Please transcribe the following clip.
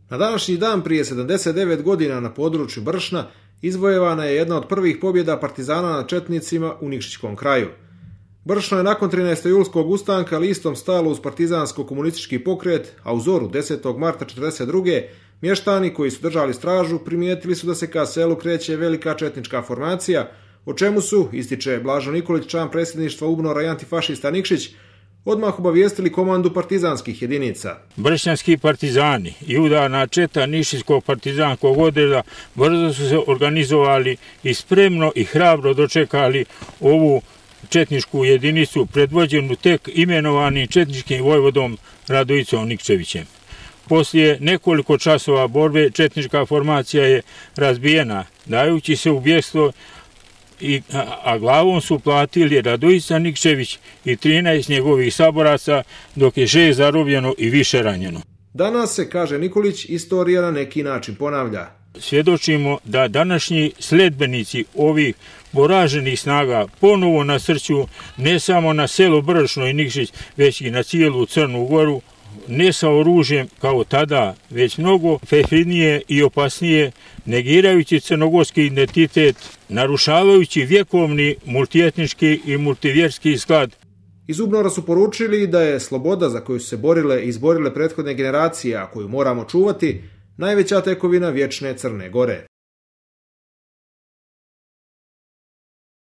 Na današnji dan prije 79 godina na području Bršna izvojevana je jedna od prvih pobjeda partizana nad četnicima u Nikšićkom kraju. Bršno je nakon 13. julskog ustanka listom stalo uz partizansko-komunistički pokret, a u zoru 10. marta 1942. mještani koji su držali stražu primijetili su da se ka selu kreće velika četnička formacija, o čemu su, ističe Blažo Nikolić, član predsjedništva UBNOR-a i antifašista Nikšić, odmah obavijestili komandu partizanskih jedinica. Bršnjanski partizani i udarna četa Nišijskog partizanskog odreda brzo su se organizovali i spremno i hrabro dočekali ovu četničku jedinicu predvođenu tek imenovanim četničkim vojvodom Radojicom Nikčevićem. Poslije nekoliko časova borbe četnička formacija je razbijena, dajući se u bjekstvo, a glavom su platili Radojica Nikčević i 13 njegovih saboraca, dok je 6 zarobljeno i više ranjeno. Danas se, kaže Nikolić, istorija na neki način ponavlja. Svjedočimo da današnji sledbenici ovih poraženih snaga ponovo nasrću ne samo na selo Bršno i Nikšić, već i na cijelu Crnu Goru, ne sa oružjem kao tada, već mnogo fefidnije i opasnije, negirajući crnogorski identitet, narušavajući vjekovni multietnički i multivjerski sklad. Iz UBNOR-a su poručili da je sloboda za koju su se borile i izborile prethodne generacije, a koju moramo čuvati, najveća tekovina vječne Crne Gore.